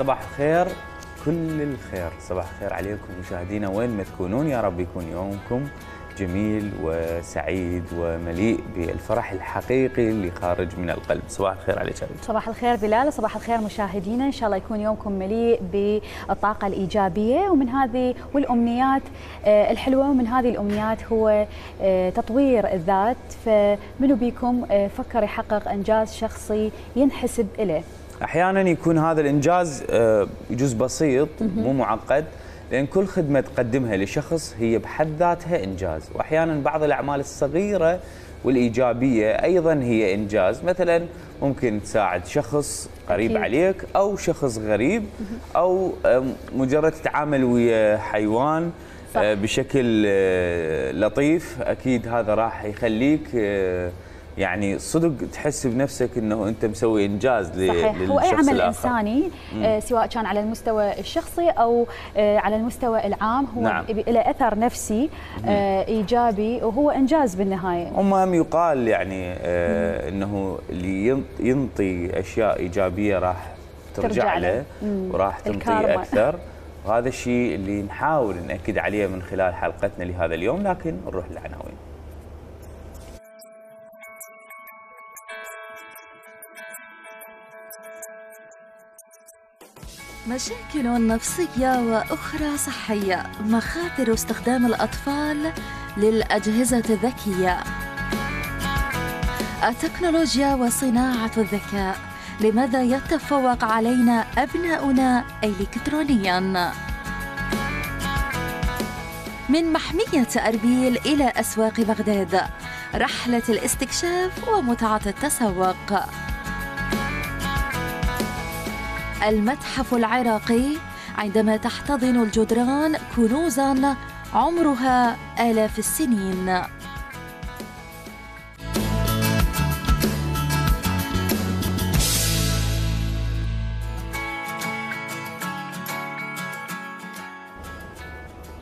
صباح الخير، كل الخير، صباح الخير عليكم مشاهدينا وين ما تكونون، يا رب يكون يومكم جميل وسعيد ومليء بالفرح الحقيقي اللي خارج من القلب. صباح الخير عليك. صباح الخير بلال، صباح الخير مشاهدينا، ان شاء الله يكون يومكم مليء بالطاقه الايجابيه ومن هذه والامنيات الحلوه، ومن هذه الامنيات هو تطوير الذات. فمنو بيكم فكر يحقق انجاز شخصي ينحسب له؟ احيانا يكون هذا الانجاز يجوز بسيط مو معقد، لأن كل خدمة تقدمها لشخص هي بحد ذاتها إنجاز، وأحياناً بعض الأعمال الصغيرة والإيجابية أيضاً هي إنجاز. مثلاً ممكن تساعد شخص قريب أكيد عليك أو شخص غريب، أو مجرد تتعامل ويا حيوان بشكل لطيف، أكيد هذا راح يخليك يعني صدق تحس بنفسك انه انت مسوي انجاز صحيح. للشخص هو اي عمل الآخر. انساني سواء كان على المستوى الشخصي او على المستوى العام هو نعم. له اثر نفسي ايجابي، وهو انجاز بالنهايه. المهم يقال يعني انه اللي ينطي اشياء ايجابيه راح ترجع له وراح تنطي اكثر، وهذا الشيء اللي نحاول ناكد عليه من خلال حلقتنا لهذا اليوم. لكن نروح للعناوين. مشاكل نفسية وأخرى صحية، مخاطر استخدام الأطفال للأجهزة الذكية، التكنولوجيا وصناعة الذكاء، لماذا يتفوق علينا أبناؤنا إلكترونياً؟ من محمية أربيل إلى أسواق بغداد، رحلة الاستكشاف ومتعة التسوق. المتحف العراقي، عندما تحتضن الجدران كنوزاً عمرها آلاف السنين.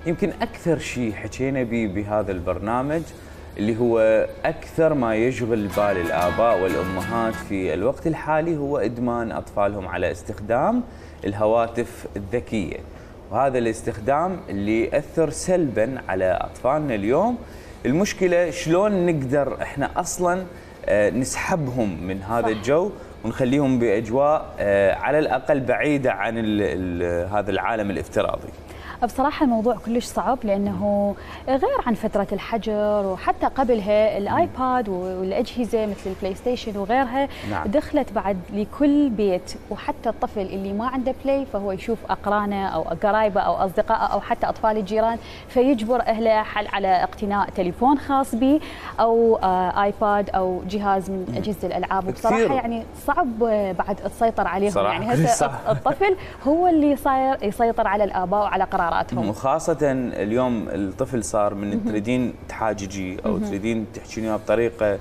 يمكن أكثر شيء حكينا به بهذا البرنامج اللي هو أكثر ما يشغل بال الآباء والأمهات في الوقت الحالي هو إدمان أطفالهم على استخدام الهواتف الذكية، وهذا الاستخدام اللي يأثر سلباً على أطفالنا اليوم. المشكلة شلون نقدر إحنا أصلاً نسحبهم من هذا الجو ونخليهم بأجواء على الأقل بعيدة عن هذا العالم الافتراضي. بصراحة الموضوع كلش صعب، لأنه غير عن فترة الحجر وحتى قبلها الآيباد والأجهزة مثل البلاي ستيشن وغيرها نعم. دخلت بعد لكل بيت، وحتى الطفل اللي ما عنده بلاي فهو يشوف أقرانه أو قرايبه أو أصدقائه أو حتى أطفال الجيران، فيجبر أهله على اقتناء تليفون خاص به أو آيباد أو جهاز من أجهزة الألعاب. وبصراحة يعني صعب بعد تسيطر عليهم، يعني هسه الطفل هو اللي صاير يسيطر على الآباء وعلى قراراتهم. وخاصة اليوم الطفل صار من تريدين تحاججي أو تريدين تحكينها بطريقة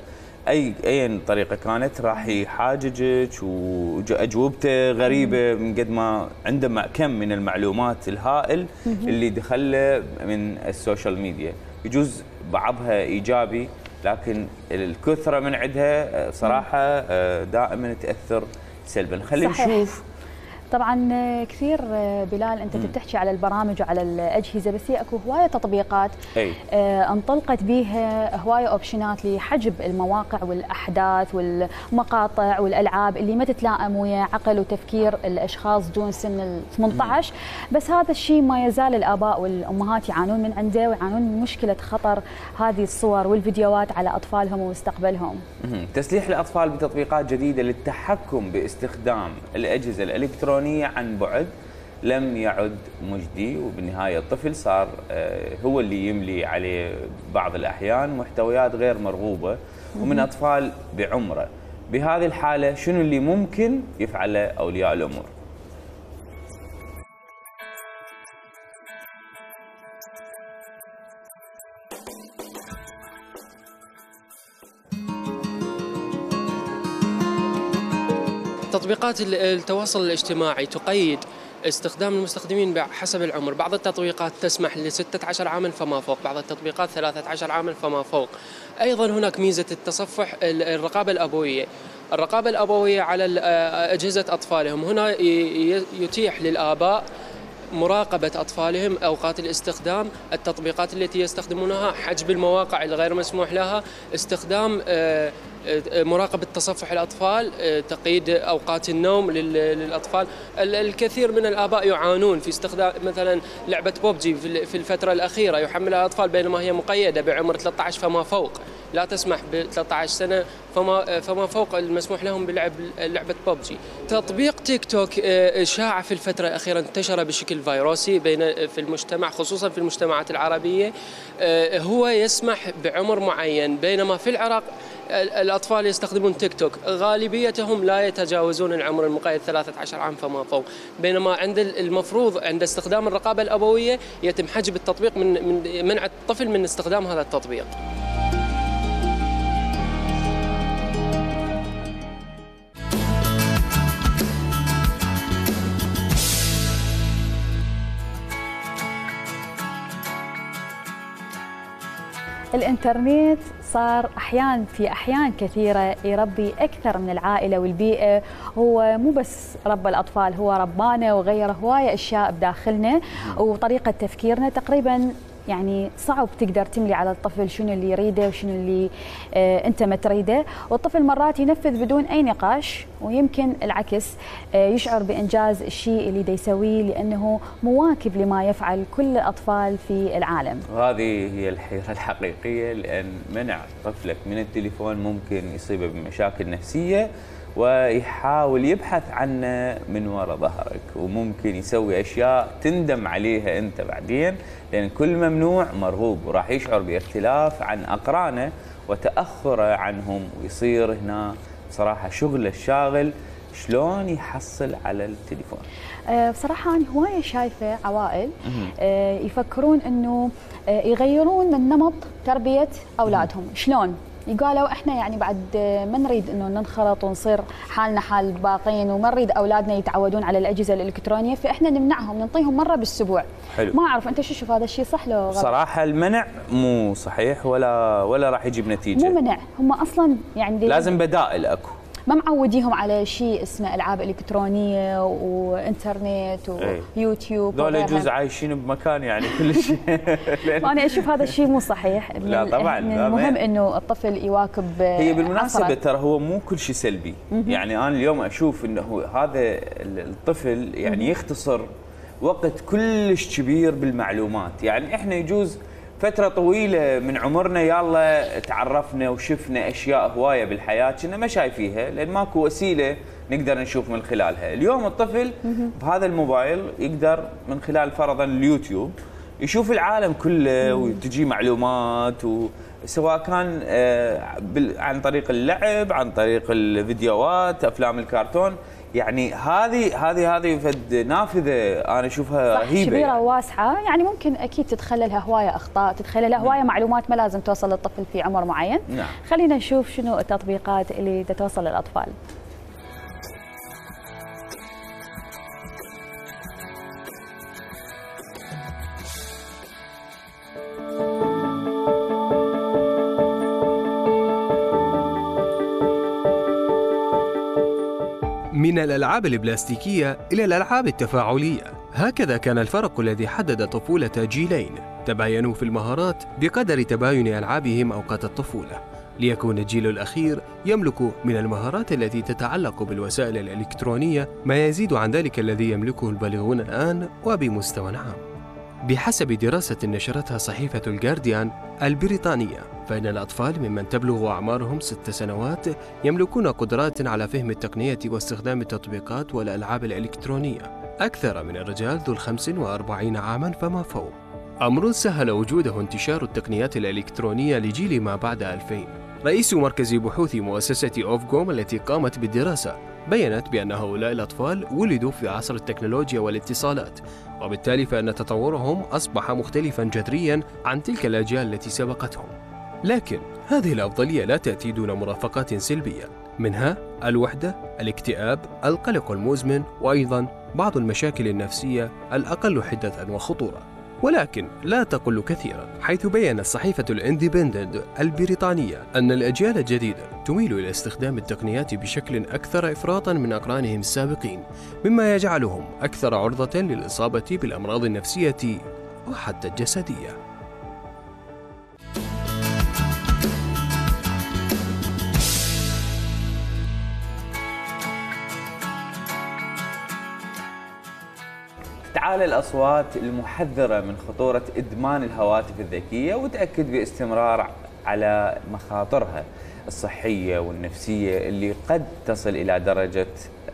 أي طريقة كانت راح يحاججك، وأجوبته غريبة من قد ما عنده كم من المعلومات الهائل اللي دخله من السوشيال ميديا. يجوز بعضها إيجابي، لكن الكثرة من عندها صراحة دائما تأثر سلبا. خلينا نشوف. طبعا كثير بلال انت بتحكي على البرامج وعلى الاجهزه، بس هي اكو هوايه تطبيقات انطلقت بيها هوايه اوبشنات لحجب المواقع والاحداث والمقاطع والالعاب اللي ما تتلائم ويا عقل وتفكير الاشخاص دون سن ال 18. بس هذا الشيء ما يزال الاباء والامهات يعانون من عنده، ويعانون من مشكله خطر هذه الصور والفيديوهات على اطفالهم ومستقبلهم. تسليح الاطفال بتطبيقات جديده للتحكم باستخدام الاجهزه الالكترونيه عن بعد لم يعد مجدي، وبالنهاية الطفل صار هو اللي يملي عليه بعض الأحيان محتويات غير مرغوبة ومن أطفال بعمره. بهذه الحالة شنو اللي ممكن يفعله أولياء الأمور؟ تطبيقات التواصل الاجتماعي تقيد استخدام المستخدمين حسب العمر. بعض التطبيقات تسمح ل 16 عاما فما فوق، بعض التطبيقات 13 عاما فما فوق. أيضا هناك ميزة التصفح الرقابة الأبوية. الرقابة الأبوية على أجهزة أطفالهم، هنا يتيح للآباء مراقبة أطفالهم، أوقات الاستخدام، التطبيقات التي يستخدمونها، حجب المواقع الغير مسموح لها، استخدام مراقبة تصفح الأطفال، تقييد أوقات النوم للأطفال. الكثير من الآباء يعانون في استخدام مثلا لعبة بوبجي في الفترة الأخيرة، يحملها الأطفال بينما هي مقيدة بعمر 13 فما فوق، لا تسمح ب 13 سنة فما فوق المسموح لهم بلعب لعبة بوبجي. تطبيق تيك توك شاع في الفترة الأخيرة، انتشر بشكل فيروسي في المجتمع، خصوصا في المجتمعات العربية. هو يسمح بعمر معين، بينما في العراق الأطفال يستخدمون تيك توك غالبيتهم لا يتجاوزون العمر المقيد 13 عام فما فوق، بينما عند المفروض عند استخدام الرقابة الأبوية يتم حجب التطبيق من منع الطفل من استخدام هذا التطبيق. الإنترنت صار في أحيان كثيرة يربي أكثر من العائلة والبيئة. هو مو بس ربى الأطفال، هو ربانا وغير هواية أشياء بداخلنا وطريقة تفكيرنا. تقريباً يعني صعب تقدر تملي على الطفل شنو اللي يريده وشنو اللي أنت ما تريده، والطفل مرات ينفذ بدون أي نقاش، ويمكن العكس يشعر بإنجاز الشيء اللي دا يسويه لأنه مواكب لما يفعل كل الأطفال في العالم. وهذه هي الحيرة الحقيقية، لأن منع طفلك من التليفون ممكن يصيبه بمشاكل نفسية ويحاول يبحث عنه من وراء ظهرك، وممكن يسوي أشياء تندم عليها أنت بعدين، لأن كل ممنوع مرغوب، وراح يشعر باختلاف عن أقرانه وتأخره عنهم، ويصير هنا بصراحة شغل الشاغل شلون يحصل على التليفون. بصراحة أنا هواية شايفة عوائل يفكرون أنه يغيرون من نمط تربية أولادهم. شلون؟ قالوا احنا يعني بعد ما نريد انه ننخرط ونصير حالنا حال الباقين، وما نريد اولادنا يتعودون على الاجهزه الالكترونيه، فاحنا نمنعهم، نعطيهم مره بالاسبوع. حلو. ما اعرف انت شو تشوف هذا الشيء صح لو غلط؟ صراحه المنع مو صحيح ولا راح يجيب نتيجه. مو منع، هم اصلا يعني لازم بدائل اكو. ما معوديهم على شيء اسمه العاب الكترونيه وانترنت ويوتيوب. ذولا يجوز عايشين بمكان يعني كل شيء. انا اشوف هذا الشيء مو صحيح. لا طبعا المهم انه الطفل يواكب. هي بالمناسبه ترى هو مو كل شيء سلبي. يعني انا اليوم اشوف انه هذا الطفل يعني يختصر وقت كلش كبير بالمعلومات. يعني احنا يجوز فترة طويلة من عمرنا يلا تعرفنا وشفنا أشياء هواية بالحياة كنا ما شايفيها، لأن ماكو وسيلة نقدر نشوف من خلالها. اليوم الطفل بهذا الموبايل يقدر من خلال فرضاً اليوتيوب يشوف العالم كله وتجي معلومات، سواء كان عن طريق اللعب، عن طريق الفيديوهات، أفلام الكرتون. يعني هذه فد نافذه انا اشوفها رهيبه، كبيره يعني. وواسعه، يعني ممكن اكيد تدخلها هوايه اخطاء، تدخلها هوايه معلومات ما لازم توصل للطفل في عمر معين. نعم. خلينا نشوف شنو التطبيقات اللي تتوصل للاطفال. من الألعاب البلاستيكية إلى الألعاب التفاعلية، هكذا كان الفرق الذي حدد طفولة جيلين تباينوا في المهارات بقدر تباين ألعابهم أوقات الطفولة، ليكون الجيل الأخير يملك من المهارات التي تتعلق بالوسائل الإلكترونية ما يزيد عن ذلك الذي يملكه البالغون الآن وبمستوى عام. بحسب دراسة نشرتها صحيفة الجارديان البريطانية، فإن الأطفال ممن تبلغ أعمارهم 6 سنوات يملكون قدرات على فهم التقنية واستخدام التطبيقات والألعاب الإلكترونية أكثر من الرجال ذو 45 عاماً فما فوق، أمر سهل وجوده انتشار التقنيات الإلكترونية لجيل ما بعد 2000. رئيس مركز بحوث مؤسسة أوفكوم التي قامت بالدراسة بيّنت بأن هؤلاء الأطفال ولدوا في عصر التكنولوجيا والاتصالات، وبالتالي فإن تطورهم أصبح مختلفاً جذرياً عن تلك الأجيال التي سبقتهم. لكن هذه الأفضلية لا تأتي دون مرافقات سلبية، منها الوحدة، الاكتئاب، القلق المزمن، وأيضاً بعض المشاكل النفسية الأقل حدة وخطورة، ولكن لا تقل كثيرا، حيث بيّنت صحيفة الاندبندنت البريطانية أن الأجيال الجديدة تميل إلى استخدام التقنيات بشكل أكثر إفراطا من أقرانهم السابقين، مما يجعلهم أكثر عرضة للإصابة بالأمراض النفسية وحتى الجسدية. تعالى الأصوات المحذرة من خطورة إدمان الهواتف الذكية، وتأكد باستمرار على مخاطرها الصحية والنفسية اللي قد تصل إلى درجة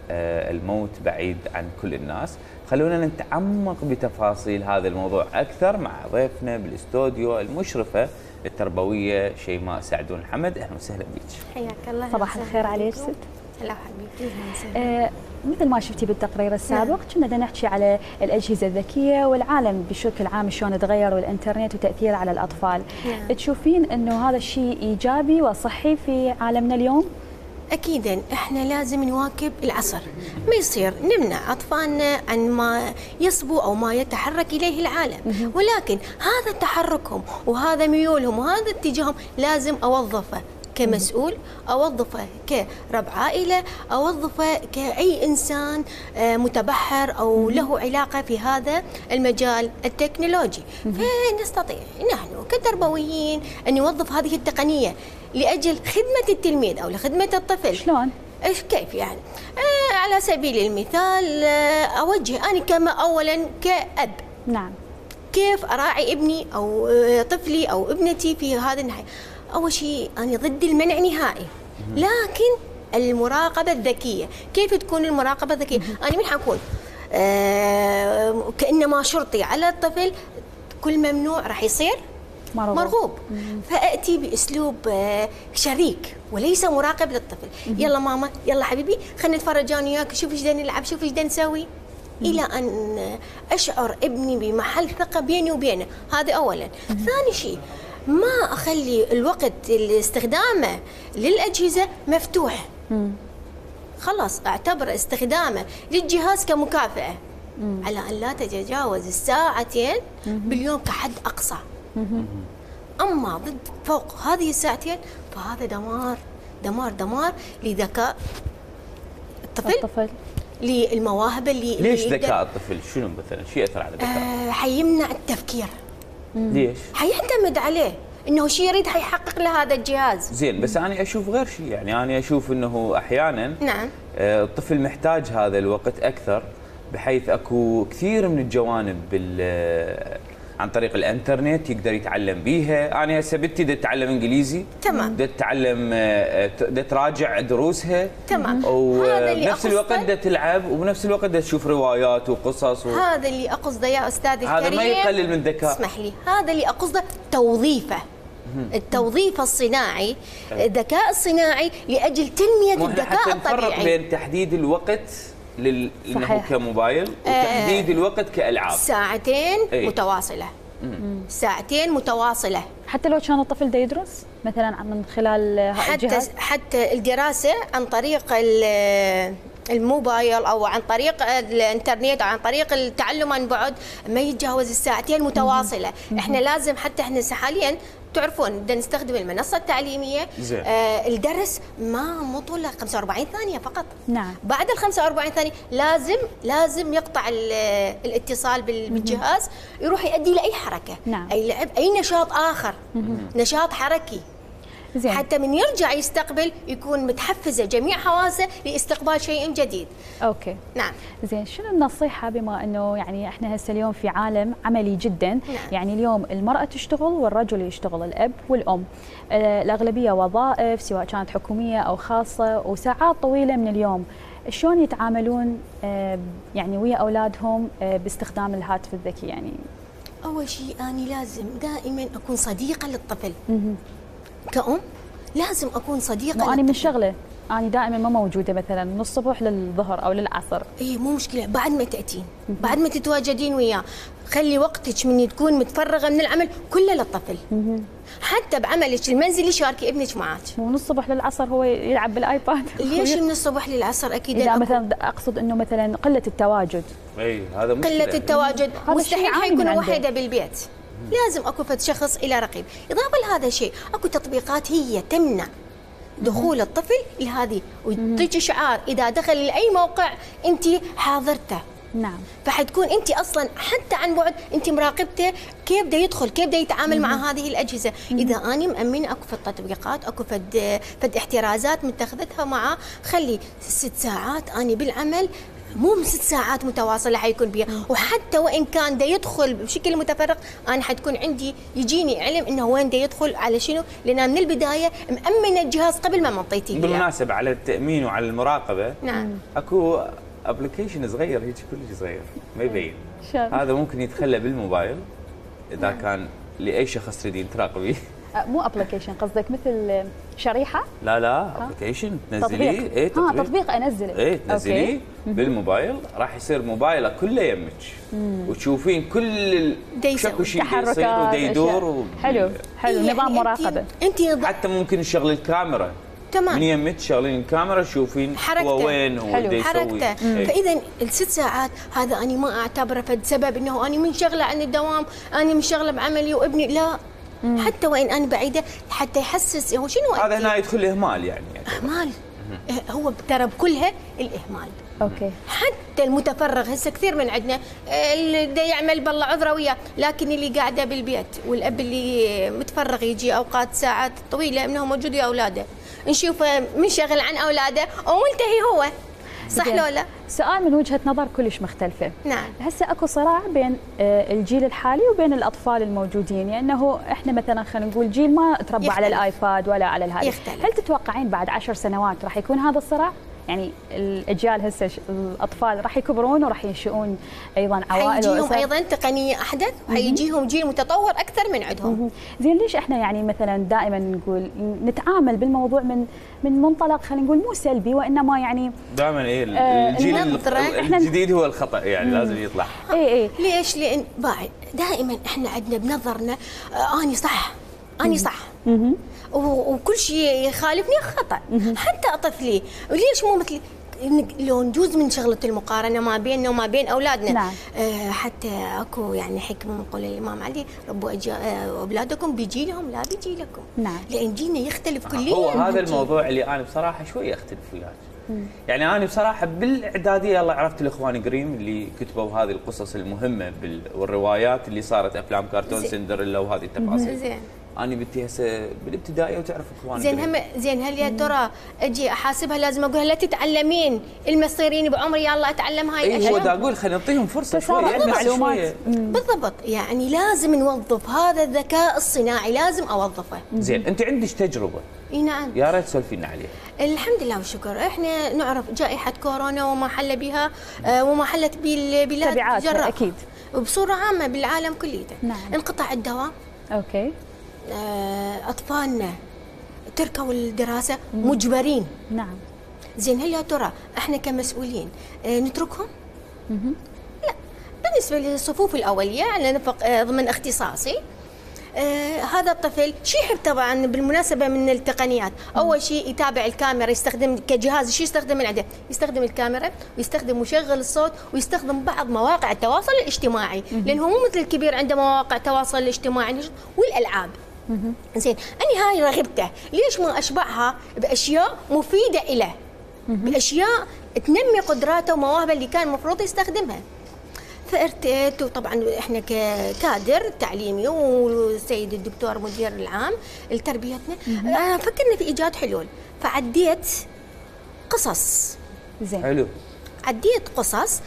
الموت بعيد عن كل الناس. خلونا نتعمق بتفاصيل هذا الموضوع أكثر مع ضيفنا بالاستوديو المشرفة التربوية شيماء سعدون حمد. أهلا وسهلا بك. حياك الله. صباح الخير عليك ست. هلا حبيبتي. مثل ما شفتي بالتقرير السابق كنا بدنا نحكي على الأجهزة الذكية والعالم بشكل عام شلون تغير والإنترنت وتأثيره على الأطفال. تشوفين إنه هذا الشيء إيجابي وصحي في عالمنا اليوم؟ أكيدا إحنا لازم نواكب العصر، ما يصير نمنع أطفالنا عن ما يصبو أو ما يتحرك إليه العالم، ولكن هذا تحركهم وهذا ميولهم وهذا اتجاههم لازم أوظفه كمسؤول، أوظفه كرب عائلة، أوظفه كأي إنسان متبحر أو له علاقة في هذا المجال التكنولوجي. فنستطيع نحن كتربويين أن نوظف هذه التقنية لأجل خدمة التلميذ أو لخدمة الطفل. شلون؟ إيش كيف يعني؟ على سبيل المثال أوجه أنا كما أولا كأب. نعم. كيف أراعي ابني أو طفلي أو ابنتي في هذا الناحية؟ أول شيء أنا ضد المنع نهائي، لكن المراقبة الذكية. كيف تكون المراقبة الذكية؟ أنا من حكون كأنما شرطي على الطفل، كل ممنوع راح يصير مرغوب. فأتي بأسلوب شريك وليس مراقب للطفل. يلا ماما، يلا حبيبي، خلينا نتفرج أنا وياك، شوف ايش بدنا نلعب، شوف ايش بدنا نسوي، إلى أن أشعر ابني بمحل ثقة بيني وبينه. هذا أولا. ثاني شيء، ما أخلي الوقت استخدامه للأجهزة مفتوح. خلاص أعتبر استخدامه للجهاز كمكافأة، على أن لا تتجاوز الساعتين باليوم كحد أقصى. أما ضد فوق هذه الساعتين فهذا دمار دمار دمار لذكاء الطفل. للمواهب اللي ليش ذكاء الطفل؟ شنو مثلا شيء يأثر على ذكاء؟ حيمنع التفكير. ليش؟ حيعتمد عليه انه شيء يريد حيحقق له هذا الجهاز. زين، بس انا اشوف غير شيء، يعني انا اشوف انه احيانا نعم الطفل محتاج هذا الوقت اكثر، بحيث اكو كثير من الجوانب عن طريق الانترنت يقدر يتعلم بيها. انا هسه بنتي بدها تتعلم انجليزي، تمام، بدها تتعلم، بدها تراجع دروسها، تمام، وبنفس الوقت بدها تلعب، وبنفس الوقت بدها تشوف روايات وقصص هذا اللي اقصده يا استاذ الكريم. هذا ما يقلل من ذكاء. اسمح لي، هذا اللي اقصده توظيفه. التوظيف الصناعي، الذكاء الصناعي لاجل تنميه الذكاء الطبيعي. نفرق بين تحديد الوقت انه كموبايل وتحديد الوقت كالعاب. ساعتين متواصله. ساعتين متواصله، حتى لو كان الطفل دا يدرس مثلا من خلال الجهاز. حتى الدراسه عن طريق الموبايل او عن طريق الانترنت او عن طريق التعلم عن بعد ما يتجاوز الساعتين متواصله. احنا لازم، حتى احنا حاليا تعرفون بدنا نستخدم المنصه التعليميه. الدرس ما طول 45 ثانيه فقط. نعم. بعد ال 45 ثانيه لازم يقطع الاتصال بالجهاز، يروح يؤدي لاي حركه. نعم. اي لعب، اي نشاط اخر، نشاط حركي. زين. حتى من يرجع يستقبل يكون متحفزه جميع حواسه لاستقبال شيء جديد. اوكي. نعم. زين، شنو النصيحه بما انه يعني احنا هسه اليوم في عالم عملي جدا؟ نعم. يعني اليوم المراه تشتغل والرجل يشتغل، الاب والام. الاغلبيه وظائف سواء كانت حكوميه او خاصه، وساعات طويله من اليوم. شلون يتعاملون يعني ويا اولادهم باستخدام الهاتف الذكي؟ يعني اول شيء انا لازم دائما اكون صديقه للطفل. كأم لازم أكون صديقة. أنا من شغلة أنا دائما ما موجودة مثلا من الصبح للظهر أو للعصر. إيه مو مشكلة، بعد ما تأتين، بعد ما تتواجدين وياه، خلي وقتك من تكون متفرغه من العمل كله للطفل. حتى بعملك المنزلي شاركي ابنك معك. ومن الصبح للعصر هو يلعب بالايباد. ليش من الصبح للعصر؟ اكيد اذا مثلا اقصد انه مثلا قله التواجد. اي هذا مشكله. قله التواجد مستحيل حيكون وحده بالبيت. لازم اكو فد شخص الى رقيب. اضافه لهذا الشيء اكو تطبيقات هي تمنع دخول الطفل لهذه، وتجي شعار اذا دخل لاي موقع انت حاضرته. نعم. فحتكون انت اصلا حتى عن بعد انت مراقبته كيف بده يدخل، كيف بده يتعامل مع هذه الاجهزه. اذا اني مامنه اكو فد تطبيقات، اكو فد احترازات متخذتها معه، خلي 6 ساعات اني بالعمل، مو 6 ساعات متواصله حيكون بيها. وحتى وان كان ده يدخل بشكل متفرق انا حتكون عندي يجيني علم انه وين ده يدخل على شنو، لان من البدايه مامنه الجهاز قبل ما منطيتيه. بالمناسبه على التامين وعلى المراقبه، نعم، اكو ابلكيشن صغير هيك كلش صغير ما يبين. هذا ممكن يتخلى بالموبايل اذا كان لاي شخص تريدين تراقبيه. مو ابلكيشن، قصدك مثل شريحه؟ لا ابلكيشن تنزليه. اي تطبيق انزله. اي تنزليه بالموبايل، راح يصير موبايله كله يمك وتشوفين كل شكو شيء يصير ودا يدور. حلو نظام مراقبه. انت حتى ممكن تشغلي الكاميرا تمام، من يمك تشغلين الكاميرا تشوفين هو وين هو دا يسوي. فاذا ال6 ساعات هذا انا ما اعتبره فد سبب انه انا منشغله عن الدوام، انا منشغله بعملي وابني، لا. حتى وان انا بعيده حتى يحسس هو شنو هذا هنا يدخل اهمال يعني اهمال. هو ترى بكلها الاهمال. اوكي. حتى المتفرغ هسه كثير من عندنا اللي دا يعمل بالله عذره وياه، لكن اللي قاعده بالبيت والاب اللي متفرغ يجي اوقات ساعات طويله انه موجود ويا اولاده، نشوفه منشغل عن اولاده وملتهي هو. صح لو لا؟ سؤال من وجهة نظر كلش مختلفة. نعم. هسه اكو صراع بين الجيل الحالي وبين الاطفال الموجودين، يعني انه احنا مثلا خلينا نقول جيل ما تربى على الايباد ولا على الهاتف. هل تتوقعين بعد 10 سنوات راح يكون هذا الصراع؟ يعني الاجيال هسه الاطفال راح يكبرون وراح ينشئون ايضا عوائل حيجيهم ايضا تقنيه احدث، وحيجيهم جيل متطور اكثر من عندهم. زين ليش احنا يعني مثلا دائما نقول نتعامل بالموضوع من منطلق خلينا نقول مو سلبي، وانما يعني دائما الجيل الجديد هو الخطا يعني لازم يطلع. اي ليش؟ لان دائما احنا عندنا بنظرنا اني صح، اني صح، وكل شيء يخالفني خطا. حتى طفلي وليش مو مثلي؟ لو نجوز من شغله المقارنه ما بيننا وما بين اولادنا. نعم. حتى اكو يعني حكمه من قول الامام علي، ربوا اولادكم بجيلهم لا بجيلكم. نعم. لان جيلنا يختلف كليا. هو هذا الموضوع اللي انا بصراحه شويه اختلف وياك. يعني انا بصراحه بالاعداديه الله عرفت الاخوان جريم اللي كتبوا هذه القصص المهمه والروايات اللي صارت افلام كرتون سندريلا وهذه التفاصيل. زين. أنا بنتي هسه بالابتدائية وتعرف إخواني. زين هل يا ترى أجي أحاسبها لازم أقولها لا تتعلمين المصيرين بعمري يا الله أتعلم هاي الأشياء؟ أيوة دا أقول خلينا نعطيهم فرصة شوية معلومات. بالضبط، يعني لازم نوظف هذا الذكاء الصناعي، لازم أوظفه. زين أنت عندك تجربة. اي نعم. يا ريت تسولفي لنا عليها. الحمد لله والشكر، احنا نعرف جائحة كورونا وما حل بها وما حلت بالبلاد تبعاتها أكيد وبصورة عامة بالعالم كله. نعم. انقطع الدواء. اوكي. أطفالنا تركوا الدراسة مجبرين. نعم. زين هل يا ترى احنا كمسؤولين نتركهم؟ لا، بالنسبة للصفوف الأولية على نفق ضمن اختصاصي، هذا الطفل شو يحب طبعا بالمناسبة من التقنيات. أول شيء يتابع الكاميرا، يستخدم كجهاز شو يستخدم من عنده؟ يستخدم الكاميرا ويستخدم مشغل الصوت ويستخدم بعض مواقع التواصل الاجتماعي، لأنه مو مثل الكبير عنده مواقع التواصل الاجتماعي والألعاب. زين أنا هاي رغبته، ليش ما أشبعها بأشياء مفيدة له، بأشياء تنمي قدراته ومواهبه اللي كان المفروض يستخدمها. فارتئت، وطبعا احنا ككادر تعليمي والسيد الدكتور مدير العام لتربيتنا فكرنا في ايجاد حلول، فعديت قصص. زين. حلو. عديت قصص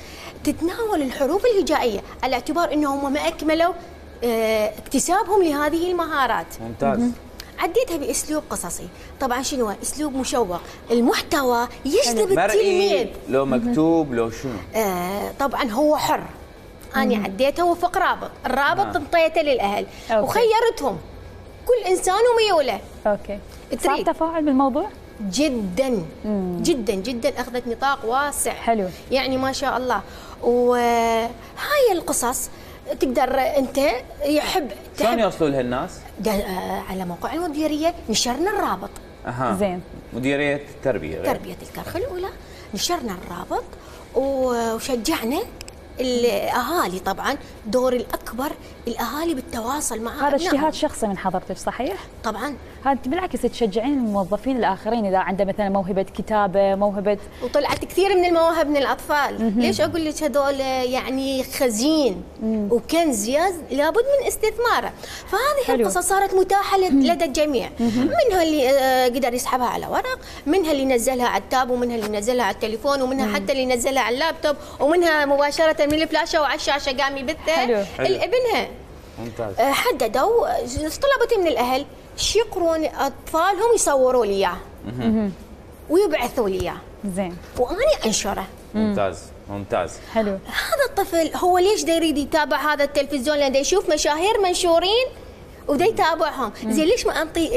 تتناول الحروف الهجائيه على اعتبار انهم ما اكملوا اكتسابهم لهذه المهارات. ممتاز. عديتها باسلوب قصصي، طبعا شنو اسلوب مشوق، المحتوى يجذب التلميذ. لو مكتوب لو شنو؟ طبعا هو حر. أنا عديتها وفق رابط، الرابط انطيته للأهل. وخيرتهم كل إنسان وميوله. اوكي. صار تفاعل بالموضوع؟ جدا جدا جدا، أخذت نطاق واسع. حلو. يعني ما شاء الله. وهاي القصص تقدر انت يحب شلون يوصلوا لها الناس؟ على موقع المديريه نشرنا الرابط. زين. مديريه التربيه تربيه الكرخ الاولى نشرنا الرابط وشجعنا الاهالي. طبعا دور الاكبر الاهالي بالتواصل مع هذا اجتهاد شخصي من حضرتك صحيح؟ طبعا. هذا بالعكس تشجعين الموظفين الاخرين اذا عنده مثلا موهبه كتابه، موهبه، وطلعت كثير من المواهب من الاطفال. ليش اقول لك هذول يعني خزين وكنز لابد من استثماره. فهذه القصص صارت متاحه لدى الجميع. منها اللي قدر يسحبها على ورق، منها اللي نزلها على التاب، ومنها اللي نزلها على التليفون، ومنها حتى اللي نزلها على اللابتوب، ومنها مباشره من الفلاشه وعلى الشاشه قام يبثها ابنها. ممتاز. حددوا طلبت من الاهل يقرون اطفالهم يصوروا لي اياه ويبعثوا لي اياه. زين. واني انشره. ممتاز ممتاز. حلو. هذا الطفل هو ليش دا يريد يتابع هذا التلفزيون؟ لان دا يشوف مشاهير منشورين ودا يتابعهم. زين ليش ما انطي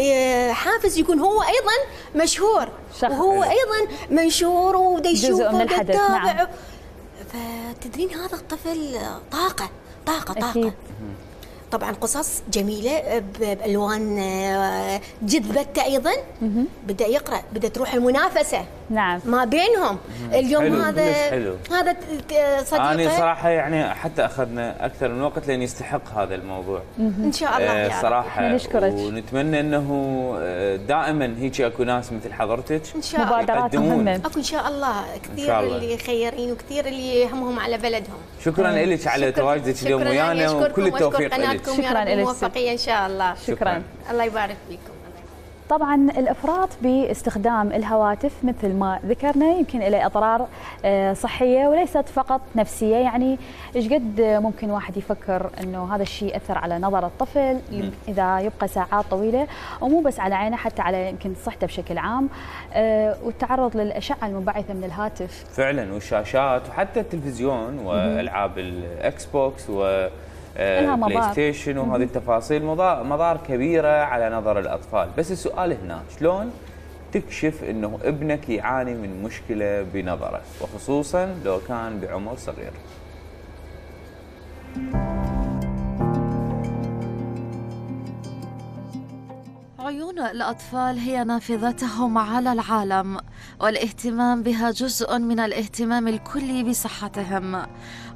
حافز يكون هو ايضا مشهور وهو ايضا منشور ودا يشوف ودا يتابع. نعم. فتدرين هذا الطفل طاقه طاقه طاقه. أكيد. طبعا قصص جميله بالوان جذبته ايضا. بدا يقرا، بدا تروح المنافسه. نعم. ما بينهم. اليوم حلو. هذا صديقه. انا صراحه يعني حتى اخذنا اكثر من وقت لان يستحق هذا الموضوع. ان شاء الله يا صراحه. نشكرك. ونتمنى انه دائما هيك اكو ناس مثل حضرتك ان شاء الله مبادرات مهمه. اكو ان شاء الله كثير اللي خيرين وكثير اللي يهمهم على بلدهم. شكرا لك على تواجدك اليوم ويانا وكل التوفيق لك. شكرا لك. موفقيه ان شاء الله. شكرا. الله يبارك فيكم. طبعا الافراط باستخدام الهواتف مثل ما ذكرنا يمكن له اضرار صحيه وليست فقط نفسيه. يعني ايش قد ممكن واحد يفكر انه هذا الشيء ياثر على نظر الطفل اذا يبقى ساعات طويله، ومو بس على عينه حتى على يمكن صحته بشكل عام، والتعرض للاشعه المنبعثه من الهاتف فعلا والشاشات وحتى التلفزيون والعاب الاكس بوكس بلاي ستيشن وهذه التفاصيل مضار كبيره على نظر الاطفال. بس السؤال هنا شلون تكشف انه ابنك يعاني من مشكله بنظره وخصوصا لو كان بعمر صغير؟ عيون الأطفال هي نافذتهم على العالم، والاهتمام بها جزء من الاهتمام الكلي بصحتهم.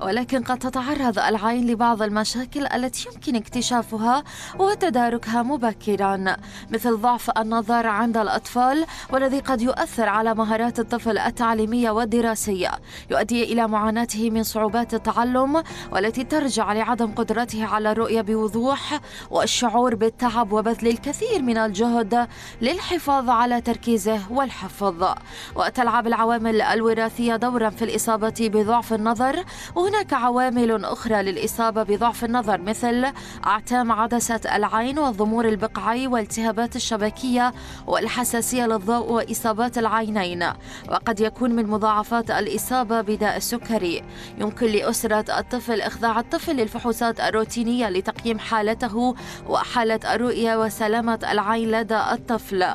ولكن قد تتعرض العين لبعض المشاكل التي يمكن اكتشافها وتداركها مبكرا، مثل ضعف النظر عند الأطفال، والذي قد يؤثر على مهارات الطفل التعليمية والدراسية، يؤدي إلى معاناته من صعوبات التعلم والتي ترجع لعدم قدرته على الرؤية بوضوح والشعور بالتعب وبذل الكثير من الجهد للحفاظ على تركيزه والحفظ. وتلعب العوامل الوراثية دورا في الإصابة بضعف النظر، وهناك عوامل أخرى للإصابة بضعف النظر مثل أعتام عدسة العين والضمور البقعي والالتهابات الشبكية والحساسية للضوء وإصابات العينين. وقد يكون من مضاعفات الإصابة بداء السكري. يمكن لأسرة الطفل إخضاع الطفل للفحوصات الروتينية لتقييم حالته وحالة الرؤية وسلامة العين لدى الطفل،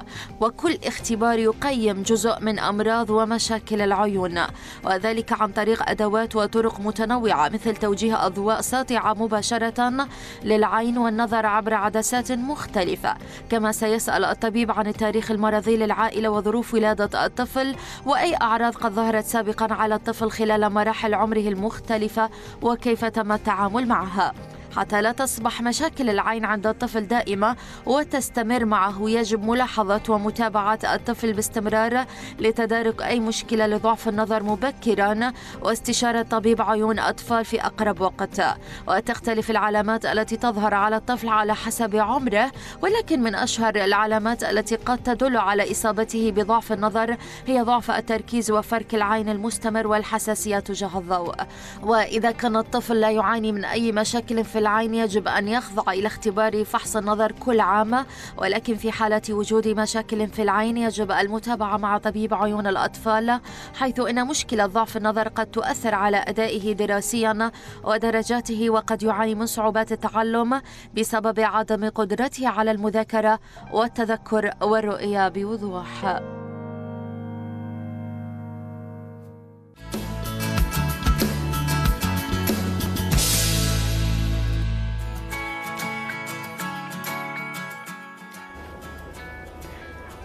وكل اختبار يقيم جزء من أمراض ومشاكل العيون، وذلك عن طريق أدوات وطرق متنوعة مثل توجيه أضواء ساطعة مباشرة للعين والنظر عبر عدسات مختلفة. كما سيسأل الطبيب عن التاريخ المرضي للعائلة وظروف ولادة الطفل وأي أعراض قد ظهرت سابقا على الطفل خلال مراحل عمره المختلفة وكيف تم التعامل معها. حتى لا تصبح مشاكل العين عند الطفل دائمة وتستمر معه، يجب ملاحظة ومتابعة الطفل باستمرار لتدارك أي مشكلة لضعف النظر مبكرا واستشارة طبيب عيون أطفال في أقرب وقت. وتختلف العلامات التي تظهر على الطفل على حسب عمره، ولكن من أشهر العلامات التي قد تدل على إصابته بضعف النظر هي ضعف التركيز وفرك العين المستمر والحساسية تجاه الضوء. وإذا كان الطفل لا يعاني من أي مشاكل في العين يجب أن يخضع إلى اختبار فحص النظر كل عام، ولكن في حالة وجود مشاكل في العين يجب المتابعة مع طبيب عيون الأطفال، حيث إن مشكلة ضعف النظر قد تؤثر على أدائه دراسيا ودرجاته، وقد يعاني من صعوبات التعلم بسبب عدم قدرته على المذاكرة والتذكر والرؤية بوضوح.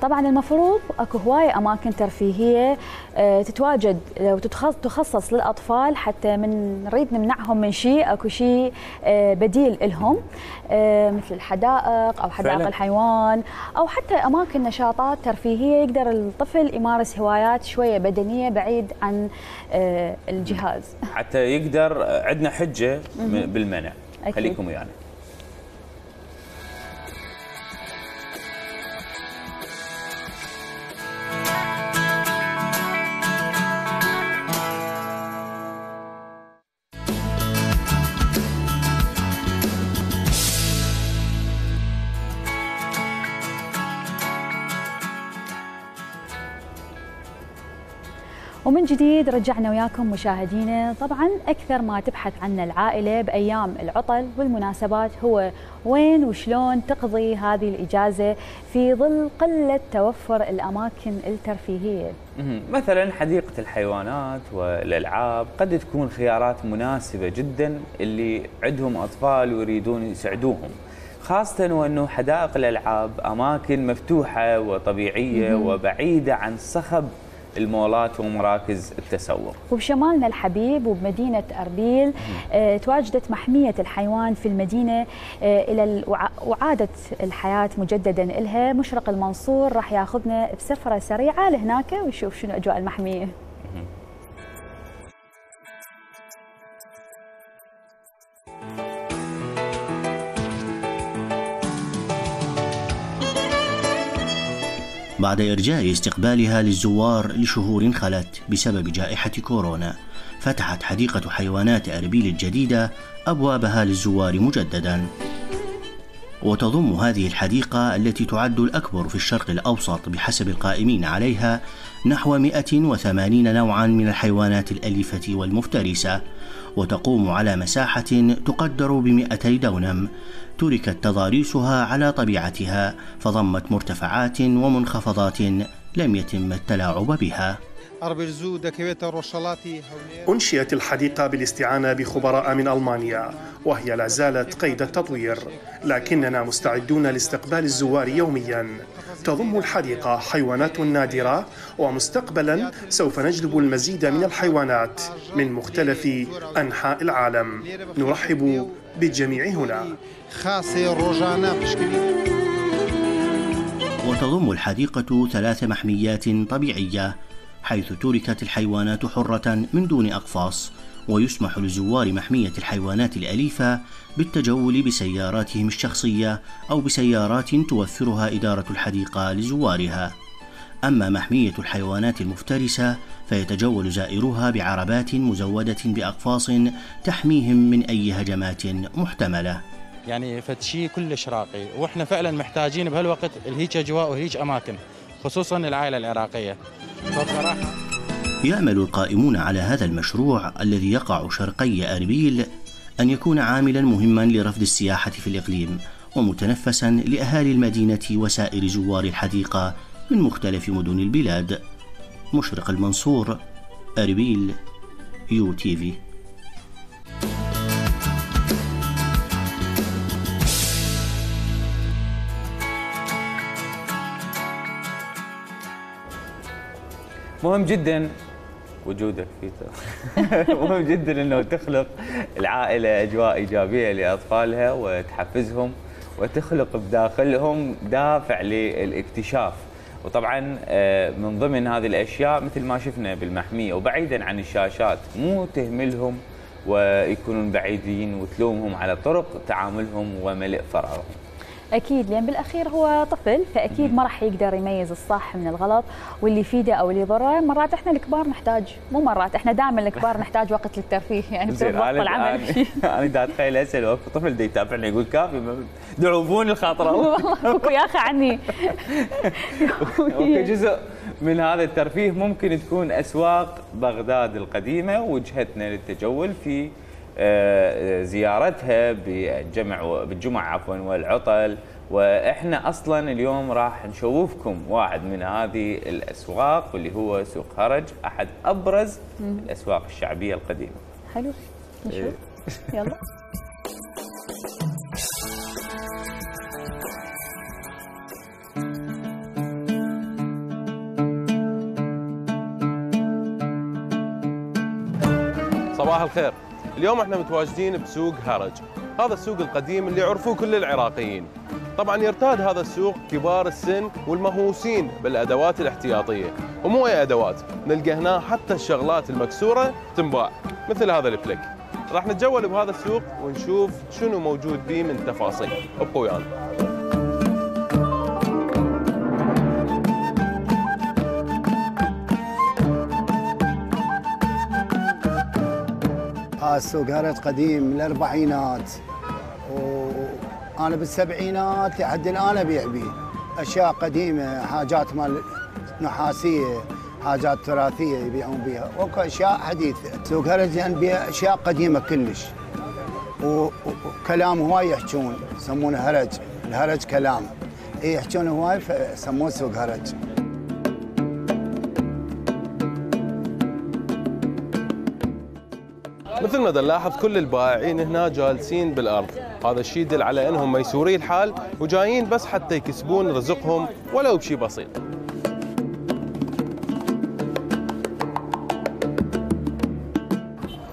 طبعا المفروض اكو هوايه اماكن ترفيهيه تتواجد وتخصص للاطفال حتى من نريد نمنعهم من شيء اكو شيء بديل لهم، مثل الحدائق او حدائق فعلا الحيوان او حتى اماكن نشاطات ترفيهيه يقدر الطفل يمارس هوايات شويه بدنيه بعيد عن الجهاز حتى يقدر. عندنا حجه بالمنع. خليكم ويانا. ومن جديد رجعنا وياكم مشاهدينا. طبعا أكثر ما تبحث عنه العائلة بأيام العطل والمناسبات هو وين وشلون تقضي هذه الإجازة في ظل قلة توفر الأماكن الترفيهية. مثلا حديقة الحيوانات والألعاب قد تكون خيارات مناسبة جدا اللي عندهم أطفال ويريدون يسعدوهم، خاصة وأنه حدائق الألعاب أماكن مفتوحة وطبيعية وبعيدة عن صخب المولات ومراكز التسوق. وبشمالنا الحبيب وبمدينة أربيل تواجدت محمية الحيوان في المدينة إلى وعادة الحياة مجددا إلها. مشرق المنصور راح ياخذنا بسفرة سريعة لهناك ويشوف شنو أجواء المحمية. بعد إرجاء استقبالها للزوار لشهور خلت بسبب جائحة كورونا، فتحت حديقة حيوانات أربيل الجديدة أبوابها للزوار مجدداً. وتضم هذه الحديقة التي تعد الأكبر في الشرق الأوسط بحسب القائمين عليها نحو 180 نوعاً من الحيوانات الأليفة والمفترسة، وتقوم على مساحة تقدر ب200 دونم. تركت تضاريسها على طبيعتها فضمت مرتفعات ومنخفضات لم يتم التلاعب بها. أنشئت الحديقة بالاستعانة بخبراء من ألمانيا وهي لا زالت قيد التطوير، لكننا مستعدون لاستقبال الزوار يوميا. تضم الحديقة حيوانات نادرة، ومستقبلا سوف نجلب المزيد من الحيوانات من مختلف أنحاء العالم. نرحب بالجميع هنا. وتضم الحديقة 3 محميات طبيعية حيث تركت الحيوانات حرة من دون أقفاص، ويسمح لزوار محمية الحيوانات الأليفة بالتجول بسياراتهم الشخصية أو بسيارات توفرها إدارة الحديقة لزوارها. أما محمية الحيوانات المفترسة فيتجول زائروها بعربات مزودة بأقفاص تحميهم من أي هجمات محتملة. يعني فتشي كلش راقي، وإحنا فعلا محتاجين بهالوقت الهيج أجواء وهيج أماكن، خصوصا العائلة العراقية. فبصراحة يأمل القائمون على هذا المشروع الذي يقع شرقي أربيل أن يكون عاملا مهما لرفض السياحة في الإقليم، ومتنفسا لأهالي المدينة وسائر زوار الحديقة من مختلف مدن البلاد. مشرق المنصور، أربيل، UTV. مهم جدا وجودك فيه. مهم جدا انه تخلق العائله اجواء ايجابيه لاطفالها وتحفزهم وتخلق بداخلهم دافع للاكتشاف. وطبعا من ضمن هذه الاشياء مثل ما شفنا بالمحميه وبعيدا عن الشاشات، مو تهملهم ويكونون بعيدين وتلومهم على طرق تعاملهم وملء فراغهم. اكيد، لان بالاخير هو طفل، فاكيد ما راح يقدر يميز الصح من الغلط واللي يفيده او اللي يضره. مرات احنا الكبار نحتاج، مو مرات، احنا دائما الكبار نحتاج وقت للترفيه، يعني بسبب ضغط العمل. انا دا اتخيل هسه لو طفل دا يتابعني يقول كافي دعوبوني الخاطره. والله فكوا يا اخي عني. وكجزء من هذا الترفيه ممكن تكون اسواق بغداد القديمه وجهتنا للتجول في زيارتها بالجمعة والعطل. واحنا اصلا اليوم راح نشوفكم واحد من هذه الاسواق واللي هو سوق هرج، احد ابرز الاسواق الشعبيه القديمه. حلو، نشوف. يلا. صباح الخير. اليوم احنا متواجدين بسوق هرج. هذا السوق القديم اللي يعرفوه كل العراقيين. طبعا يرتاد هذا السوق كبار السن والمهووسين بالادوات الاحتياطيه، ومو اي ادوات، نلقى هنا حتى الشغلات المكسوره تنباع مثل هذا الفلك. راح نتجول بهذا السوق ونشوف شنو موجود به من تفاصيل. ابقوا ويانا. السوق هرج قديم من الاربعينات، وانا بالسبعينات لحد الان ابيع به اشياء قديمه، حاجات مال نحاسيه، حاجات تراثيه يبيعون بها، واكو اشياء حديثه. سوق هرج يعني بيها اشياء قديمه كلش، وكلام هواي يحجون يسمونه هرج، الهرج كلام، يحجون هواي فسموه سوق هرج. مثل ما نلاحظ كل البائعين هنا جالسين بالارض، هذا الشيء يدل على انهم ميسوري الحال وجايين بس حتى يكسبون رزقهم ولو بشيء بسيط.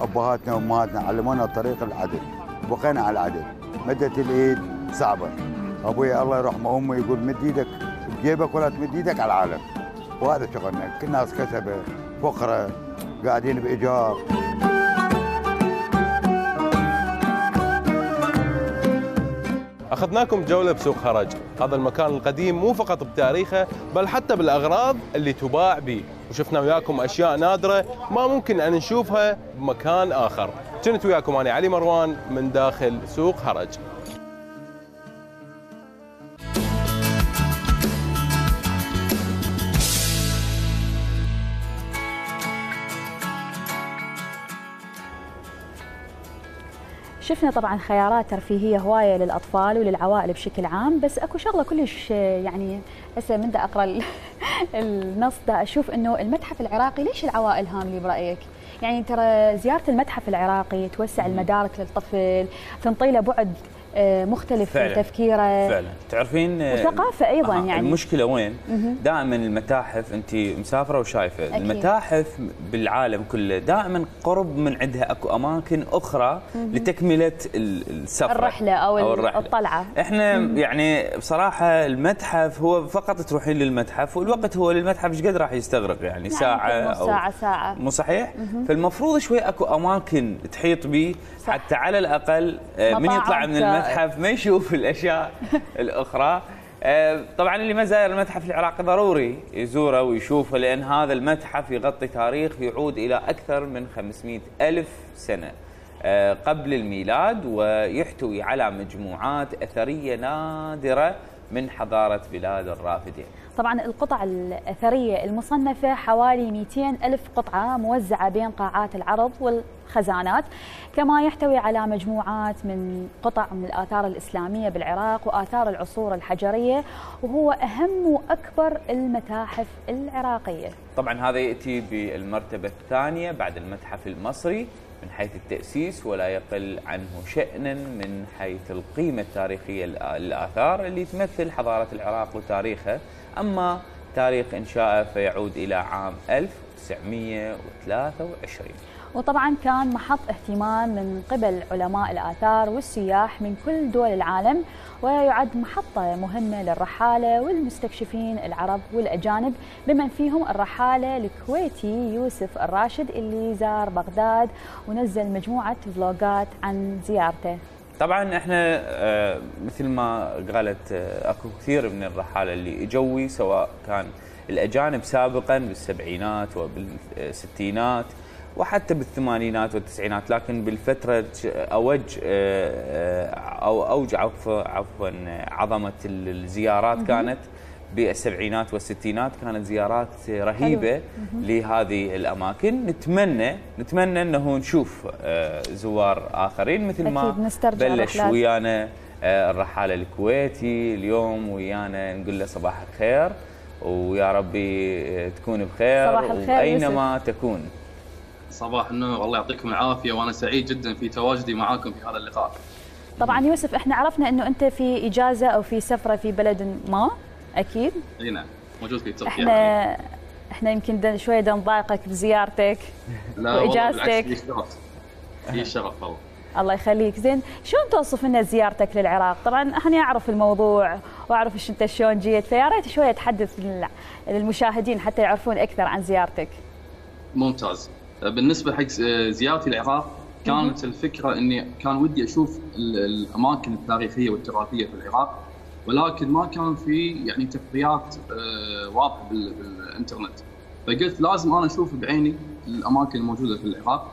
ابهاتنا وامهاتنا علمونا طريق العدل، بقينا على العدل، مدت الايد صعبه. ابوي الله يرحمه امي يقول مد ايدك بجيبك ولا تمد ايدك على العالم، وهذا شغلنا، كل الناس كسبه، فقره، قاعدين بايجار. أخذناكم جولة بسوق هرج. هذا المكان القديم مو فقط بتاريخه بل حتى بالأغراض اللي تباع به، وشفنا وياكم أشياء نادرة ما ممكن أن نشوفها بمكان آخر. كنت وياكم أنا علي مروان من داخل سوق هرج. شفنا طبعا خيارات ترفيهيه هوايه للاطفال وللعوائل بشكل عام، بس اكو شغله كلش يعني هسه من دا اقرا النص دا اشوف انه المتحف العراقي ليش العوائل هاملي برايك؟ يعني ترى زياره المتحف العراقي توسع المدارك للطفل، تنطي له بعد مختلف في تفكيره فعلا. تعرفين وثقافه ايضا يعني المشكله وين؟ دائما المتاحف انت مسافره وشايفه أكيد. المتاحف بالعالم كله دائما قرب من عندها اكو اماكن اخرى لتكمله السفره الرحله او الطلعه. احنا يعني بصراحه المتحف هو فقط تروحين للمتحف والوقت هو للمتحف ايش قد راح يستغرق يعني ساعه او ساعه مو صحيح؟ فالمفروض شوي اكو اماكن تحيط به حتى على الاقل من يطلع من المتحف ما يشوف الاشياء الاخرى. طبعا اللي ما زاير المتحف العراقي ضروري يزوره ويشوفه، لان هذا المتحف يغطي تاريخ يعود الى اكثر من 500,000 سنه قبل الميلاد، ويحتوي على مجموعات اثريه نادره من حضاره بلاد الرافدين. طبعا القطع الأثرية المصنفة حوالي 200,000 قطعة موزعة بين قاعات العرض والخزانات، كما يحتوي على مجموعات من قطع من الآثار الإسلامية بالعراق وآثار العصور الحجرية، وهو أهم وأكبر المتاحف العراقية. طبعا هذا يأتي بالمرتبة الثانية بعد المتحف المصري من حيث التأسيس، ولا يقل عنه شأنا من حيث القيمة التاريخية للآثار اللي تمثل حضارة العراق وتاريخها. أما تاريخ إنشائه فيعود إلى عام 1923. وطبعا كان محط اهتمام من قبل علماء الآثار والسياح من كل دول العالم، ويعد محطة مهمة للرحالة والمستكشفين العرب والأجانب، بمن فيهم الرحالة الكويتي يوسف الراشد اللي زار بغداد ونزل مجموعة فلوجات عن زيارته. طبعا احنا مثل ما قالت اكو كثير من الرحاله اللي اجوا، سواء كان الاجانب سابقا بالسبعينات وبالستينات وحتى بالثمانينات والتسعينات، لكن بالفتره اوج عفوا عظمه الزيارات كانت بالسبعينات والستينات، كانت زيارات رهيبه لهذه الاماكن. نتمنى انه نشوف زوار اخرين مثل ما بلش ويانا الرحاله الكويتي اليوم ويانا، نقول له صباح الخير ويا ربي تكون بخير واينما تكون. صباح النور، الله يعطيكم العافيه، وانا سعيد جدا في تواجدي معاكم في هذا اللقاء. طبعا يوسف احنا عرفنا انه انت في اجازه او في سفره في بلد ما، اكيد؟ اي نعم، موجود في تركيا. احنا يمكن شويه نضايقك بزيارتك لا واجازتك. بالعكس، هي شرف والله. الله يخليك. زين شلون توصف لنا زيارتك للعراق؟ طبعا احنا اعرف الموضوع واعرف انت شلون جيت، فيا ريت شويه تحدث للمشاهدين حتى يعرفون اكثر عن زيارتك. ممتاز. بالنسبه حق زيارتي العراق كانت الفكره اني كان ودي اشوف الاماكن التاريخيه والتراثيه في العراق، ولكن ما كان في يعني تغطيات واضحه بالانترنت، فقلت لازم انا اشوف بعيني الاماكن الموجوده في العراق.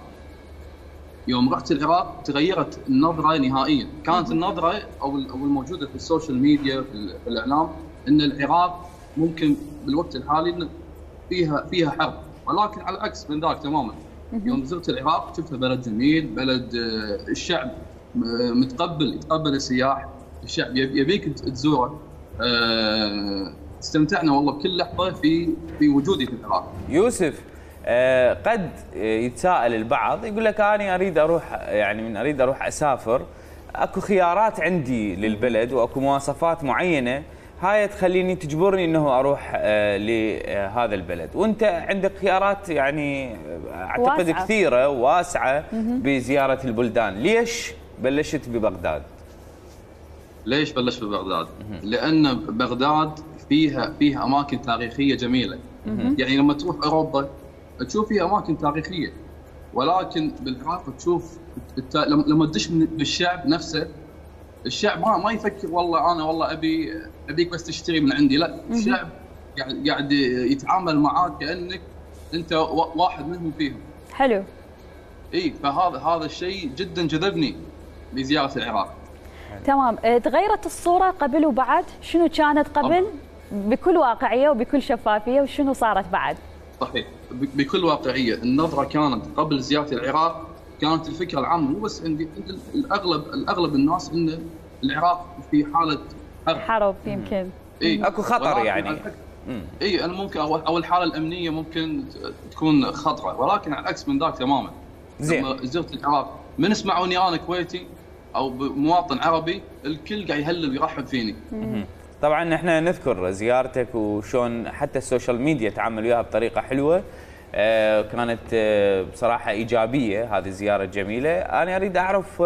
يوم رحت العراق تغيرت النظره نهائيا، كانت النظره او الموجوده في السوشيال ميديا في الاعلام ان العراق ممكن بالوقت الحالي إن فيها حرب، ولكن على العكس من ذاك تماما. يوم زرت العراق شفتها بلد جميل، بلد الشعب يتقبل السياح، الشعب يبيك تزوره. استمتعنا والله بكل لحظه في وجودي في العراق. يوسف، قد يتساءل البعض يقول لك انا اريد اروح اسافر، اكو خيارات عندي للبلد واكو مواصفات معينه هاي تخليني تجبرني انه اروح لهذا البلد، وانت عندك خيارات يعني اعتقد واسعة. كثيره وواسعه بزياره البلدان، ليش بلشت ببغداد؟ ليش بلشت ببغداد؟ لان بغداد فيها اماكن تاريخيه جميله. يعني لما تروح اوروبا تشوف فيها اماكن تاريخيه، ولكن بالعراق تشوف لما تدش بالشعب نفسه، الشعب ما يفكر والله ابيك بس تشتري من عندي، لا، الشعب قاعد يتعامل معاك كانك انت واحد منهم فيهم. حلو. اي، فهذا الشيء جدا جذبني لزياره العراق. تمام. تغيرت الصوره قبل وبعد؟ شنو كانت قبل بكل واقعيه وبكل شفافيه، وشنو صارت بعد؟ صحيح، بكل واقعيه. النظره كانت قبل زياره العراق كانت الفكره العامه مو بس عند الاغلب الناس ان العراق في حاله حرب يمكن. اكو خطر يعني. انا ممكن او الحاله الامنيه ممكن تكون خطره، ولكن على العكس من ذاك تماما. لما زرت العراق من اسمعوني انا كويتي او مواطن عربي، الكل قاعد يهلل ويرحب فيني. طبعا احنا نذكر زيارتك وشون حتى السوشيال ميديا تعامل وياها بطريقه حلوه، كانت بصراحه ايجابيه هذه الزياره الجميله. انا اريد اعرف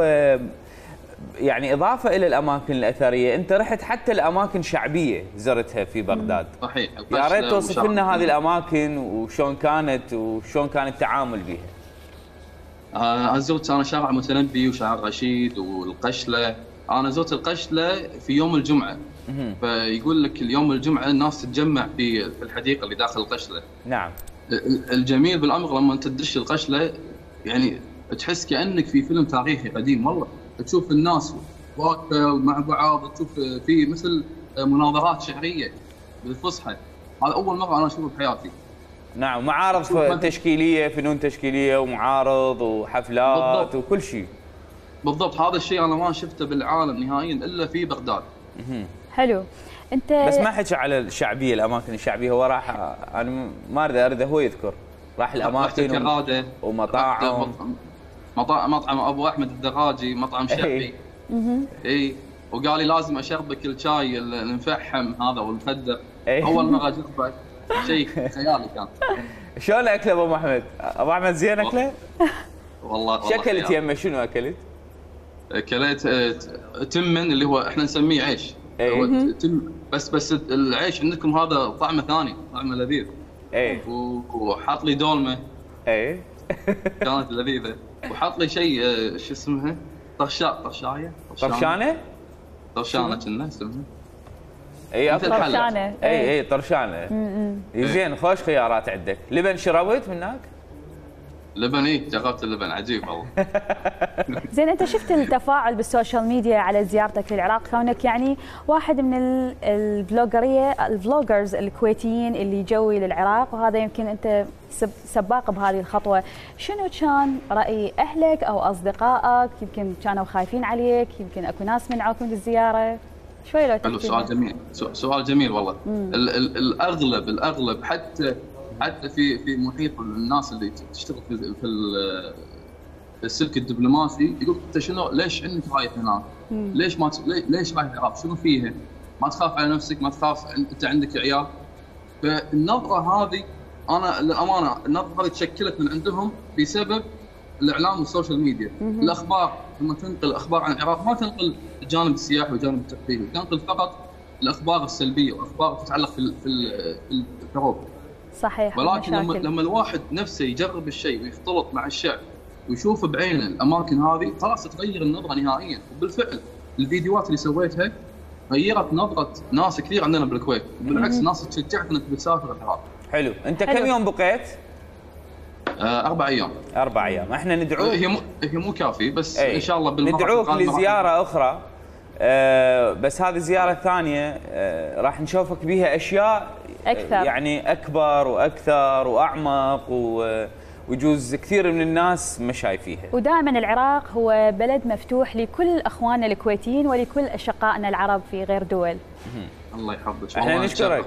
يعني اضافه الى الاماكن الاثريه، انت رحت حتى الاماكن شعبيه زرتها في بغداد. صحيح. يا ريت توصف لنا هذه الاماكن وشون كانت التعامل بها. زرت انا شارع متنبي وشارع رشيد والقشله. انا زرت القشله في يوم الجمعه، فيقول لك اليوم الجمعه الناس تتجمع في الحديقه اللي داخل القشله. نعم. الجميل بالامر لما انت تدش القشله يعني تحس كانك في فيلم تاريخي قديم، والله تشوف الناس واقفه مع بعض، تشوف في مثل مناظرات شعريه بالفصحى. هذا اول مره انا اشوفه بحياتي. نعم، معارض تشكيليه، فنون تشكيليه ومعارض وحفلات بالضبط. وكل شيء. بالضبط، هذا الشيء انا ما شفته بالعالم نهائيا الا في بغداد. حلو. انت بس ما حكي على الشعبيه، الاماكن الشعبيه، هو راح انا ما اريد هو يذكر، راح الاماكن ومطاعم. مطعم ابو احمد الدراجي، مطعم شعبي. اي، وقال لي لازم اشربك الشاي المفحم هذا والمخدر. اول مره اشربه، شيء خيالي كان. شلون اكله ابو احمد؟ ابو احمد زين اكله؟ والله شكلت يمه شنو اكلت؟ اكلت تمن اللي هو احنا نسميه عيش. هو بس العيش عندكم هذا طعمه ثاني، طعمه لذيذ. وحط لي دولمه. كانت لذيذه. وحط لي شيء شو اسمها؟ طرشانه كنا اسمها. طرشانه. طرشانه. زين، خوش خيارات عندك. لبن شربت من هناك؟ لبن جربت اللبن عجيب والله. زين، انت شفت التفاعل بالسوشيال ميديا على زيارتك للعراق، كونك يعني واحد من الفلوجرز الكويتيين اللي جوي للعراق، وهذا يمكن انت سباق بهذه الخطوه. شنو كان راي اهلك او اصدقائك؟ يمكن كانوا خايفين عليك، يمكن اكو ناس منعوك من الزياره. شوي لو تحكي. سؤال جميل، سؤال جميل والله. الاغلب حتى في محيط الناس اللي تشتغل في السلك الدبلوماسي يقول انت شنو، ليش عندك رايح هناك؟ ليش رايح العراق؟ شنو فيها؟ ما تخاف على نفسك؟ ما تخاف انت عندك عيال؟ فالنظره هذه انا للامانه النظره هذه تشكلت من عندهم بسبب الاعلام والسوشيال ميديا. الاخبار لما تنقل اخبار عن العراق ما تنقل الجانب السياحي والجانب الترفيهي، تنقل فقط الاخبار السلبيه واخبار تتعلق في الحروب. صحيح. ولكن لما الواحد نفسه يجرب الشيء ويختلط مع الشعب ويشوف بعينه الاماكن هذه خلاص تغير النظره نهائيا. وبالفعل الفيديوهات اللي سويتها غيرت نظره ناس كثير عندنا بالكويت، بالعكس ناس تشجعت انك تسافر العراق. حلو. انت كم يوم بقيت؟ 4 أيام. 4 أيام. احنا ندعوك، هي مو كافي بس ان شاء الله ندعوك لزياره اخرى. بس هذه الزياره الثانيه راح نشوفك بيها اشياء اكثر، يعني اكبر واكثر واعمق ويجوز كثير من الناس ما شايفيها. ودائما العراق هو بلد مفتوح لكل اخواننا الكويتيين ولكل اشقائنا العرب في غير دول. الله يحفظك. احنا نشكرك.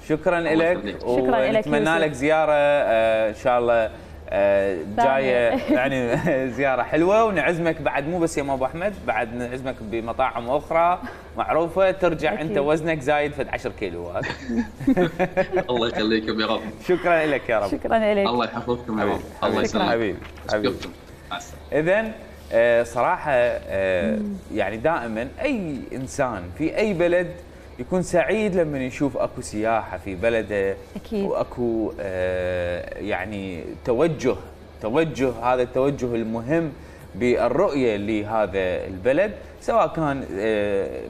شكرا لك ونتمنى لك زياره ان شاء الله جايه يعني زياره حلوه، ونعزمك بعد مو بس يا ابو احمد، بعد نعزمك بمطاعم اخرى معروفه ترجع أكيد. انت وزنك زايد فد 10 كيلوات. الله يخليكم يا رب. شكرا لك يا رب. شكرا لك. الله يحفظكم يا رب. الله يسلمك حبيبي. اذا صراحه يعني دائما اي انسان في اي بلد يكون سعيد لما يشوف اكو سياحه في بلده. أكيد. واكو يعني توجه هذا التوجه المهم بالرؤيه لهذا البلد، سواء كان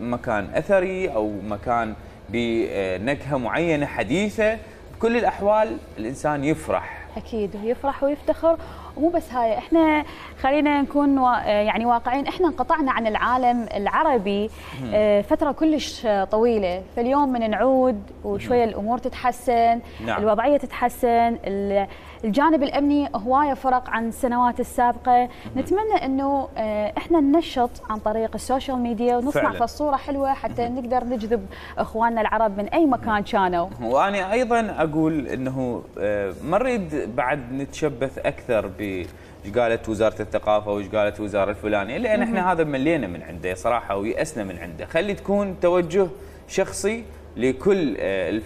مكان اثري او مكان بنكهه معينه حديثه. بكل الاحوال الانسان يفرح. اكيد يفرح ويفتخر. ومو بس هاي، احنا خلينا نكون يعني واقعين، احنا انقطعنا عن العالم العربي فتره كلش طويله، فاليوم من نعود وشويه الامور تتحسن. نعم. الوضعيه تتحسن، الجانب الامني هوايه فرق عن السنوات السابقه. نتمنى انه احنا ننشط عن طريق السوشيال ميديا ونصنع في الصوره حلوه حتى نقدر نجذب اخواننا العرب من اي مكان كانوا. وانا ايضا اقول انه ما نريد بعد نتشبث اكثر ب ايش قالت وزاره الثقافه وايش قالت وزاره الفلانيه، لان احنا هذا ملينا من عنده صراحه ويأسنا من عنده. خلي تكون توجه شخصي لكل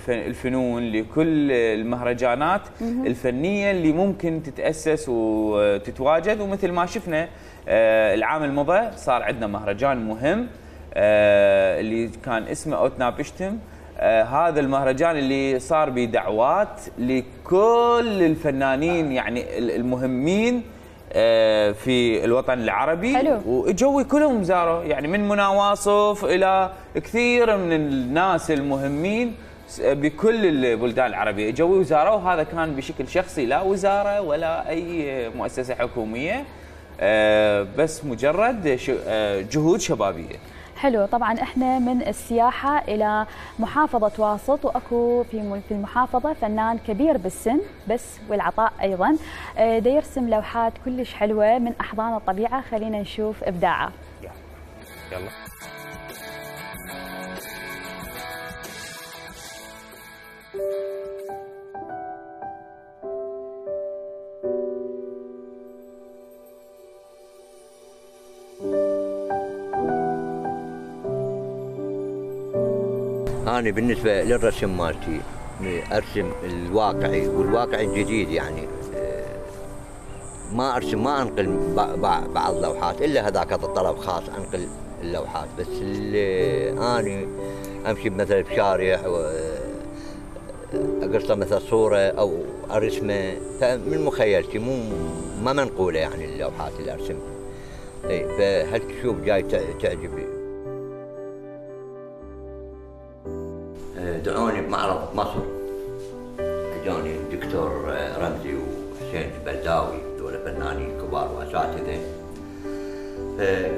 الفنون، لكل المهرجانات الفنيه اللي ممكن تتأسس وتتواجد. ومثل ما شفنا العام المضى صار عندنا مهرجان مهم اللي كان اسمه اوتنا بشتم. هذا المهرجان اللي صار بدعوات لكل الفنانين يعني المهمين في الوطن العربي. حلو. واجوا كلهم زاروا، يعني من منى واصف الى كثير من الناس المهمين بكل البلدان العربيه اجوا وزاروا. هذا كان بشكل شخصي، لا وزاره ولا اي مؤسسه حكوميه، بس مجرد جهود شبابيه. حلو. طبعا احنا من السياحه الى محافظه واسط، واكو في المحافظه فنان كبير بالسن بس والعطاء ايضا، دا يرسم لوحات كلش حلوه من احضان الطبيعه. خلينا نشوف ابداعه. يلا. أنا بالنسبة للرسم مالتي أرسم الواقعي والواقعي الجديد، يعني ما أرسم، ما أنقل بعض اللوحات إلا هذاك الطلب خاص أنقل اللوحات. بس اللي أنا أمشي مثلا بشارع أقصه مثلا صورة أو أرسمه من مخيلتي، ما منقولة يعني اللوحات اللي أرسمها. فهل تشوف جاي تعجبني. دعوني بمعرض مصر، اجاني الدكتور رمزي وحسين البلداوي، دول فنانين كبار واساتذه،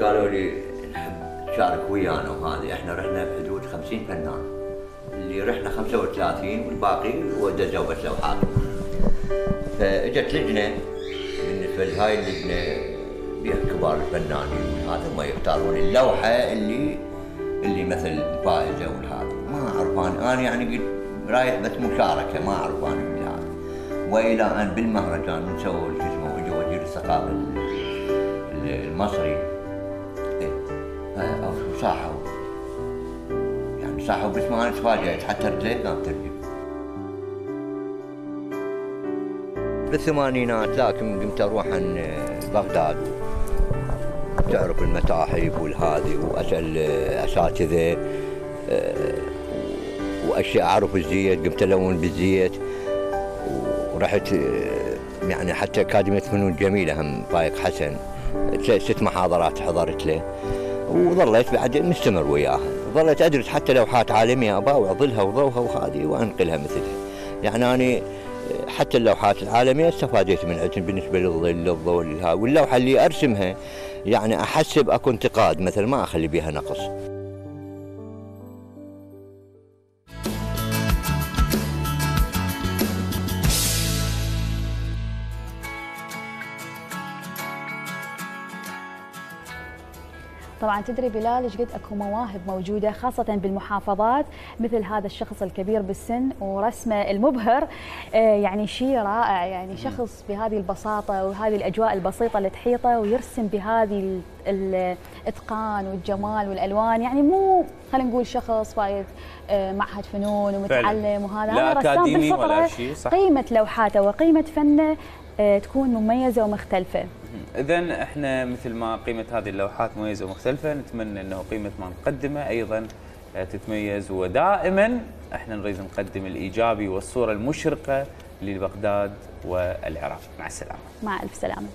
قالوا لي نحب تشارك ويانا. وهذه احنا رحنا بحدود 50 فنان، اللي رحنا 35 والباقي ودزوا بس لوحات. فاجت لجنه، بالنسبه لهاي اللجنه بها كبار الفنانين، هذا ما يختارون اللوحه اللي مثل فائزه والهذا. ما اعرف انا يعني قلت رايح بس مشاركه، ما اعرف انا بالهذا. والى ان بالمهرجان من سووا شو اسمه، اجى وزير الثقافه المصري صاحوا، يعني صاحوا بس ما انا تفاجئت، حتى رجلي ما بترجع. بالثمانينات، لكن قمت اروح عن بغداد، تعرف المتاحف والهذي، واسال اساتذه واشياء، اعرف الزيت، قمت الون بالزيت، ورحت يعني حتى اكاديميه فنون جميله هم فايق حسن 6 محاضرات حضرت له، وظليت بعد مستمر وياها، ظليت ادرس حتى لوحات عالميه ابى اظلها وضوها وهذه وانقلها مثلها. يعني انا حتى اللوحات العالميه استفاديت من عندهم بالنسبه للظل للضوء واللوحه اللي ارسمها يعني احسب اكو انتقاد مثلا ما اخلي بها نقص. طبعا تدري بلال ايش قد اكو مواهب موجوده خاصه بالمحافظات، مثل هذا الشخص الكبير بالسن ورسمه المبهر، يعني شيء رائع، يعني شخص بهذه البساطه وهذه الاجواء البسيطه اللي تحيطه ويرسم بهذه الاتقان والجمال والالوان، يعني مو خلينا نقول شخص فايت معهد فنون ومتعلم وهذا، لا رسام بالفطره. قيمه لوحاته وقيمه فنه تكون مميزه ومختلفه. إذا احنا مثل ما قيمة هذه اللوحات مميزة ومختلفة، نتمنى انه قيمة ما نقدمه ايضا تتميز، ودائما احنا نريد نقدم الايجابي والصورة المشرقة لبغداد والعراق. مع السلامة. مع الف سلامة.